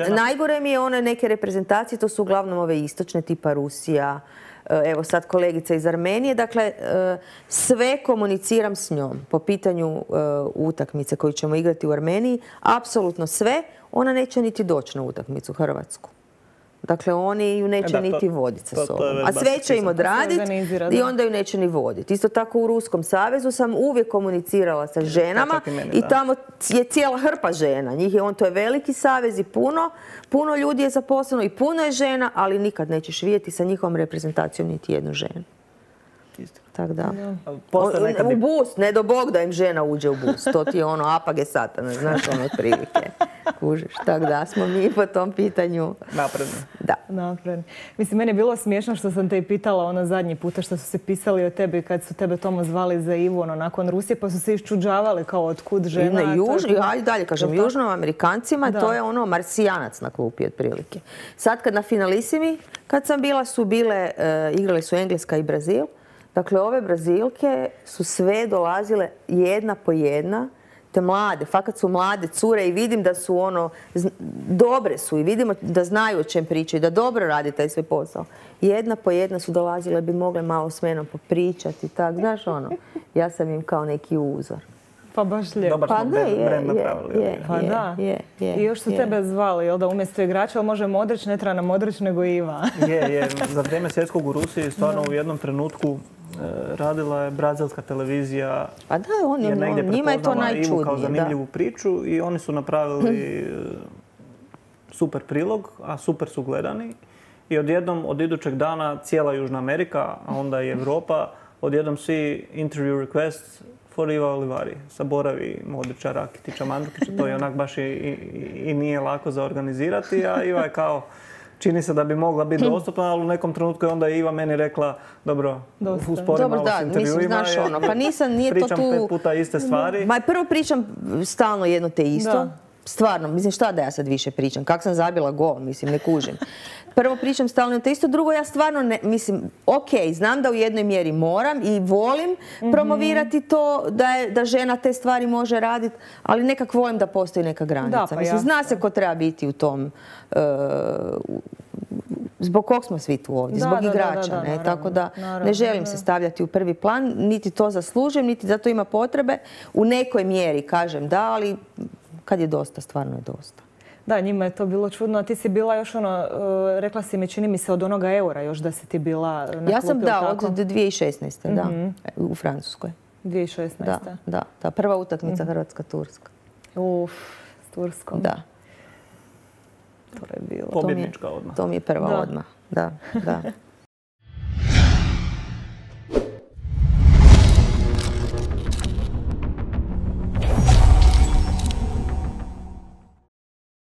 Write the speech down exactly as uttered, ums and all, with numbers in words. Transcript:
Najgore mi je one neke reprezentacije, to su uglavnom ove istočne, tipa Rusija, evo sad kolegica iz Armenije. Dakle, sve komuniciram s njom po pitanju utakmice koju ćemo igrati u Armeniji. Apsolutno sve. Ona neće niti doći na utakmicu Hrvatsku. Dakle, oni ju neće niti voditi sa sobom. A sve će im odraditi i onda ju neće ni voditi. Isto tako u Ruskom savezu sam uvijek komunicirala sa ženama i tamo je cijela hrpa žena. Njih je, on, to je veliki savez i puno, puno ljudi je zaposleno i puno je žena, ali nikad nećeš vidjeti sa njihovom reprezentacijom niti jednu ženu. Tako da. U bus, ne do Bog da im žena uđe u bus. To ti je ono apage satana, znaš, ono otprilike. Kužiš. Tako da smo mi po tom pitanju napredni. Da. Napredni. Mislim, meni je bilo smiješno što sam te i pitala ono zadnji puta što su se pisali o tebi kad su tebe Tomo zvali za Ivu ono, nakon Rusije, pa su se iščuđavali kao otkud žena. I juž, je... Ajde dalje, kažem, južnom Amerikancima da. To je ono marsijanac na klupi otprilike. Sad kad na finalisimi, kad sam bila, su bile, uh, igrali su Engleska i Brazil. Dakle, ove Brazilke su sve dolazile jedna po jedna, te mlade, fakat su mlade cure i vidim da su ono, dobre su i vidimo da znaju o čem pričaju, da dobro radi taj svoj posao. Jedna po jedna su dolazile, bi mogle malo s menom popričati, tak, znaš ono, ja sam im kao neki uzor. Pa baš lijepo. Dobar smo brand napravili. Pa da. I još su tebe zvali, jel da, umjesto igrača, ali može Modrić, ne treba nam Modrić, nego Iva. Je, je. Za vrijeme svjetskog u Rusiji stvarno u jednom trenutku radila je brazilska televizija. Pa da, on, on, njima je to najčudnije. Ivu kao zanimljivu priču i oni su napravili super prilog, a super su gledani. I odjednom, od idućeg dana, cijela Južna Amerika, a onda i Europa, odjednom svi interview requests for Iva Olivari. Saboravi Modrića, Rakitića, Mandžukića. To je onak baš i, i, i nije lako za organizirati, a Iva je kao... Čini se da bi mogla biti dostupna, ali u nekom trenutku je onda Iva meni rekla, dobro, uspori malo s intervjuima, ono, pa nisam, nije pričam to tu... pet puta iste stvari. Ma prvo pričam stalno jedno te isto. Da. Stvarno, mislim, šta da ja sad više pričam? Kak sam zabila gol, mislim, ne kužim. Prvo pričam stalno jedno te isto, drugo ja stvarno ne, mislim, ok, znam da u jednoj mjeri moram i volim mm-hmm. promovirati to da, je, da žena te stvari može raditi, ali nekak volim da postoji neka granica. Da, pa mislim, zna se ko treba biti u tom... Uh, zbog kog smo svi tu ovdje, da, zbog da, igrača, da, da, ne? Naravno, Tako da naravno, ne želim da. se stavljati u prvi plan, niti to zaslužujem, niti za to ima potrebe. U nekoj mjeri kažem da, ali kad je dosta, stvarno je dosta. Da, njima je to bilo čudno, a ti si bila još ono, rekla si mi, čini mi se od onoga eura još da si ti bila na klupi. Ja sam, da, tako? Od dvije tisuće šesnaeste. Mm-hmm. Da, u Francuskoj. dvije tisuće šesnaeste. Da, da, da. Prva utakmica mm-hmm. Hrvatska-Turska. Uf, s Turskom. Da. To je bilo. Pobjednička odmah. To mi je prva da. odmah. Da, da.